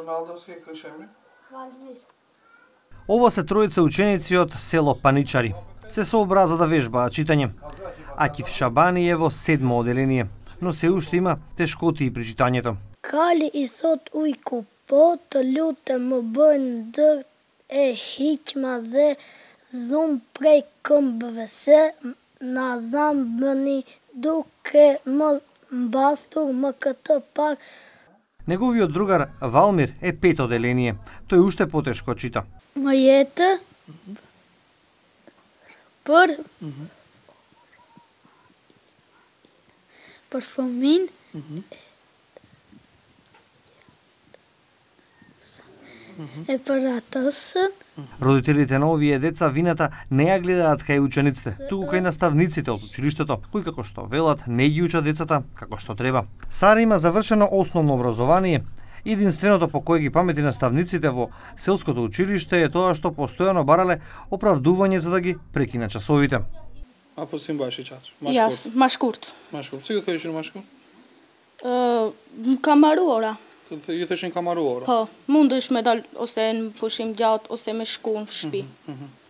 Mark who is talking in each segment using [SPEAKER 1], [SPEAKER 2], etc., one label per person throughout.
[SPEAKER 1] Роналдовски кажеме.
[SPEAKER 2] Валмир.
[SPEAKER 3] Ова се тројца ученици од село Паничари. Се сообраза да вежбаат читање. Акиф Шабани е во 7-мо оделение, но се уште има тешкоти при читањето.
[SPEAKER 2] Кали и сот ујку по, të lutem më bëjnë ndër e hiqma dhe dhum prej këmbëve se na dham bëni duke mos mbastur më këtë pak.
[SPEAKER 3] Неговиот другар Валмир е 5 оделение. Тој уште потешко чита.
[SPEAKER 2] Më jetë për fëmin e për атасën.
[SPEAKER 3] Родителите на овие деца вината не ја гледаат кај учениците, туку кај наставниците од училиштето, кои како што велат не ги учат децата како што треба. Сара има завршено основно образование. Единственото по кое ги памети наставниците во селското училиште е тоа што постојано барале оправдување за да ги прекинат часовите.
[SPEAKER 1] А по сим баш и чат.
[SPEAKER 4] Јас, машкурт.
[SPEAKER 1] Машкурт. Си го thëshin машкурт?
[SPEAKER 4] Kamaruara.
[SPEAKER 1] Ju thëshin kamaruara.
[SPEAKER 4] Po, mundesh me dal ose në pushim gjatë ose me shku në shtëpi.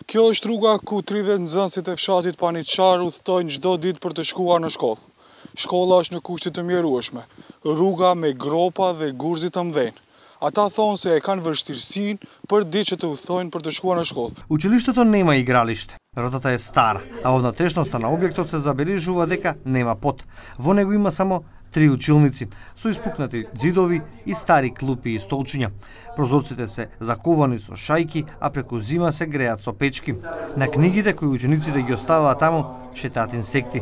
[SPEAKER 5] Kjo është rruga ku 30 nxënësit e fshatit Paniçar udhtojnë çdo ditë për të shkuar në shkollë. Shkolla është në kushte të mjerueshme, rruga me gropa dhe gurzi të mdhenj. Ata thonë se e kanë vështirësinë për ditë që të udhtojnë për të shkuar në shkollë.
[SPEAKER 3] Училиштето нема игралиште. Ротата е стара, а во внатрешноста на објектот се забележува дека нема под. Во него има само 3 училници, со испукнати ѕидови и стари клупи и столчиња. Прозорците се заковани со шајки, а преку зима се греат со печки. На книгите кои учениците ги оставаат таму, шетаат инсекти.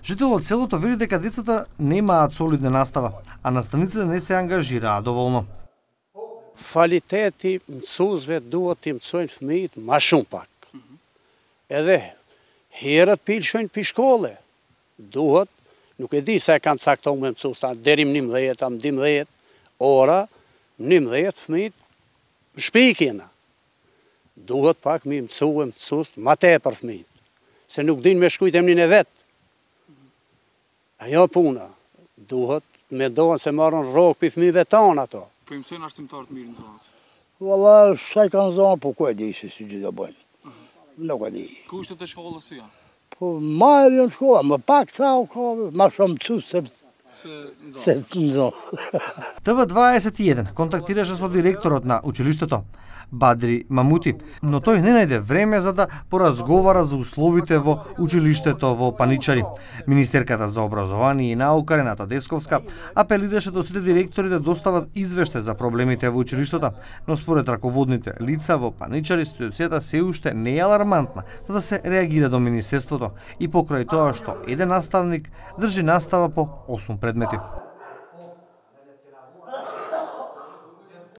[SPEAKER 3] Жител од селото вели дека децата немаат солидна настава, а наставниците не се ангажираат доволно.
[SPEAKER 6] Kvaliteti mësuesve duhet t'i mësojnë fëmijët ma shumë pak. Edhe herët pilshojnë pi shkolle. Duhet, nuk e di se e kanë caktuar me mësues deri në 11, 12 ora, 11 fëmijët në shtëpi kena. Duhet pak mi mësues ma tepër fëmijët, se nuk din me shkujt emrin e vet. Ajo puna, duhet me dohen se marrën rrogë pi fëmijëve tanë ato.
[SPEAKER 1] Po i mësojnë arsimtar të mirë në zonës.
[SPEAKER 7] Valla, sa i kanë zonë, po ku e di se si gjithë të bëjnë. Nuk e di.
[SPEAKER 1] Kushtet e shkollës si janë?
[SPEAKER 7] Po ma e vjen shkolla, më pak ca u ka, ma shumë mësues se në zonë.
[SPEAKER 3] TV21 контактираше со директорот на училиштето, Бадри Мамути, но тој не најде време за да поразговара за условите во училиштето во Паничари. Министерката за образование и наука Рената Десковска апелираше до сите директори да достават извештај за проблемите во училиштето, но според раководните лица во Паничари ситуацијата се уште не е алармантна за да се реагира до министерството и покрај тоа што еден наставник држи настава по 8 предмети.